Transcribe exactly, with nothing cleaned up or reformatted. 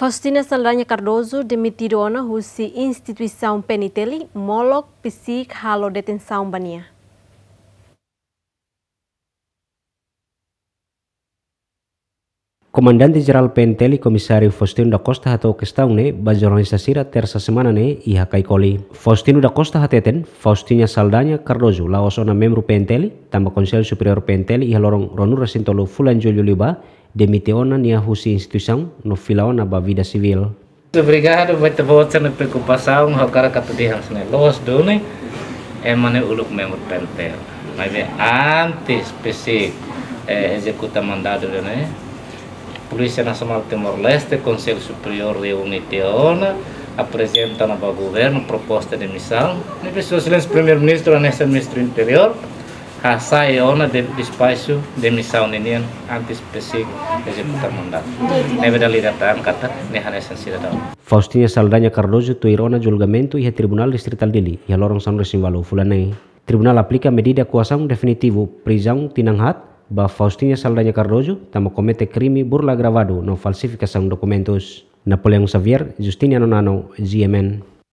Faustina Saldanha Cardoso demitidu ona husi instituisaun P N T L, molok PCIC halo detensaun ba nia. Komandante Jerál P N T L, Komisáriu Faustino da Costa hato'o kestaun ne'e ba jornalista sira tersa semana ne'e iha Caicoli. Faustino da Costa hateten, Faustina Saldanha Cardoso la'ós ona membru P N T L, tanba Konsellu Superiór P N T L iha loron ruanulu-resin-tolu fulan Jullu liubá demite ona nia husi instituisaun no fila ona ba vida sivíl. Obrigadu ba ita-boot sira-nia preokupasaun, ha'u hakarak atu dehan hanesan ne'e, loos duni, ema ne'e uluk membru P N T L. Maibé antes PCIC, eh, ezekuta mandadu ida-ne'e, Polísia Nasionál Timor-Leste, Konsellu Superiór reúne tiha ona, aprezenta ona ba governu proposta demisaun, ne'ebé Sua Exelénsia Primeiru-Ministru hanesan Ministru Interiór hasai ona de-, despaxu demisaun ninian antes PCIC ezekuta mandadu. Ne'ebé dala ida ita dehan katak ne'e hanesan sidadaun. Faustina Saldanha Cardoso tuir ona julgamentu iha Tribunál Distritál Dili iha loron sanulu-resin-ualu fulan ne'e. Tribunál aplika medida koasaun definitivu prizaun tinan haat ba Faustina Saldanha Cardoso tanba komete krime burla agravadu no falsifikasaun dokumentus. Napoleão Xavier, Justiniano Nano, G M N.